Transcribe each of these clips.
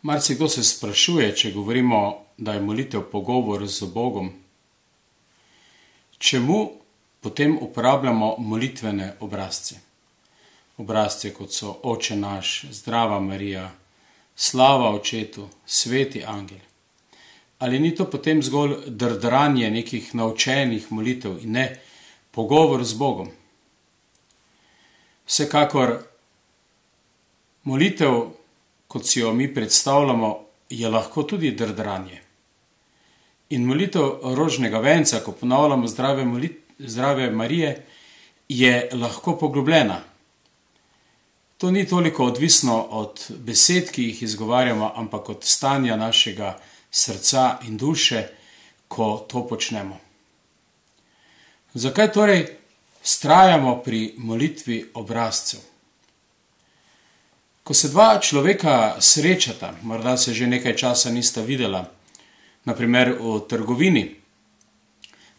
Marsikdo se sprašuje, če govorimo, da je molitev pogovor z Bogom, čemu potem uporabljamo molitvene obrazce? Obrazce, kot so Oče naš, Zdrava Marija, Slava Očetu, Sveti angel. Ali ni to potem zgolj drdranje nekih naučenih molitev in ne pogovor z Bogom? Vsekakor molitev, kot si jo mi predstavljamo, je lahko tudi drdranje. In molitev rožnega venca, ko ponavljamo Zdrave Marije, je lahko poglobljena. To ni toliko odvisno od besed, ki jih izgovarjamo, ampak od stanja našega srca in duše, ko to počnemo. Zakaj torej vztrajamo pri molitvi obrazcev? Ko se dva človeka srečata, morda se že nekaj časa nista videla, na primer v trgovini,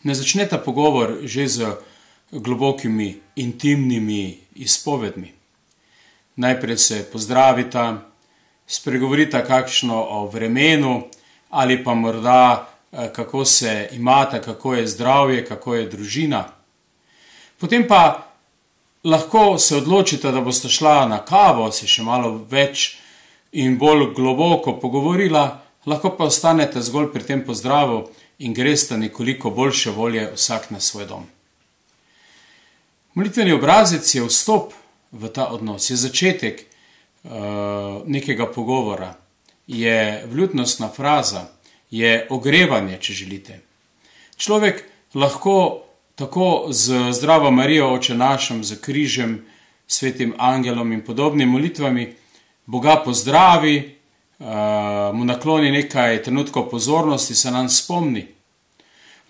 ne začneta pogovor že z globokimi, intimnimi izpovedmi. Najprej se pozdravita, spregovorita kakšno o vremenu ali pa morda kako se imata, kako je zdravje, kako je družina. Potem pa lahko se odločita, da bosta šla na kavo, se še malo več in bolj globoko pogovorila, lahko pa ostanete zgolj pri tem pozdravu in gresta nekoliko boljše volje vsak na svoj dom. Molitveni obrazec je vstop v ta odnos, je začetek nekega pogovora, je vljudnostna fraza, je ogrevanje, če želite. Človek lahko tako z Zdravo Marijo, Oče našem, z križem, Svetim angelom in podobnimi molitvami Boga pozdravi, mu nakloni nekaj trenutkov pozornosti, se nam spomni.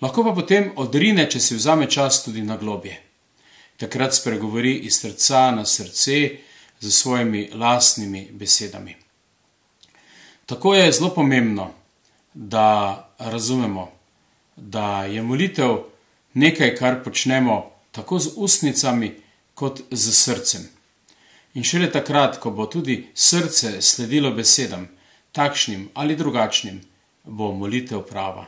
Lahko pa potem odrine, če si vzame čas, tudi na globje. Takrat spregovori iz srca na srce z svojimi lastnimi besedami. Tako je zelo pomembno, da razumemo, da je molitev nekaj, kar počnemo tako z ustnicami kot z srcem. In šele takrat, ko bo tudi srce sledilo besedam, takšnim ali drugačnim, bo molitev prava.